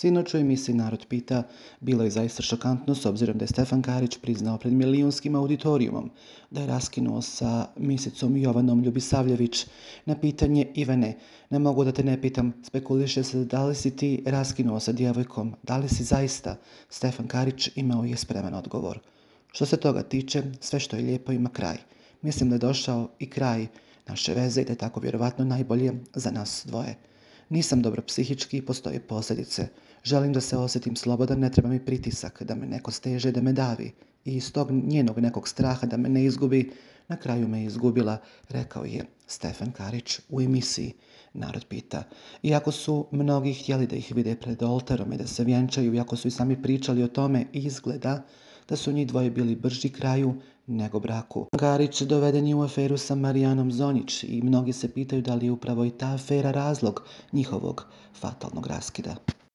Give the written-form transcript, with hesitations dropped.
Sinoć u emisiji Narod pita bilo je zaista šokantno s obzirom da je Stefan Karić priznao pred milijunskim auditorijumom da je raskinuo sa misicom Jovanom Ljubisavljević. Na pitanje Ivane, ne mogu da te ne pitam, spekuliše se da li si ti raskinuo sa djevojkom, da li si zaista? Stefan Karić imao je spreman odgovor. Što se toga tiče, sve što je lijepo ima kraj. Mislim da je došao i kraj naše veze i da je tako vjerovatno najbolje za nas dvoje. Nisam dobro psihički i postoje posljedice. Želim da se osjetim slobodan, ne treba mi pritisak, da me neko steže, da me davi. I iz tog njenog nekog straha da me ne izgubi, na kraju me izgubila, rekao je Stefan Karić u emisiji Narod pita. Iako su mnogi htjeli da ih vide pred oltarom i da se vjenčaju, iako su i sami pričali o tome, izgleda da su njih dvoje bili brži kraju nego braku. Karić doveden je u aferu sa Marijanom Zonjić i mnogi se pitaju da li je upravo i ta afera razlog njihovog fatalnog raskida.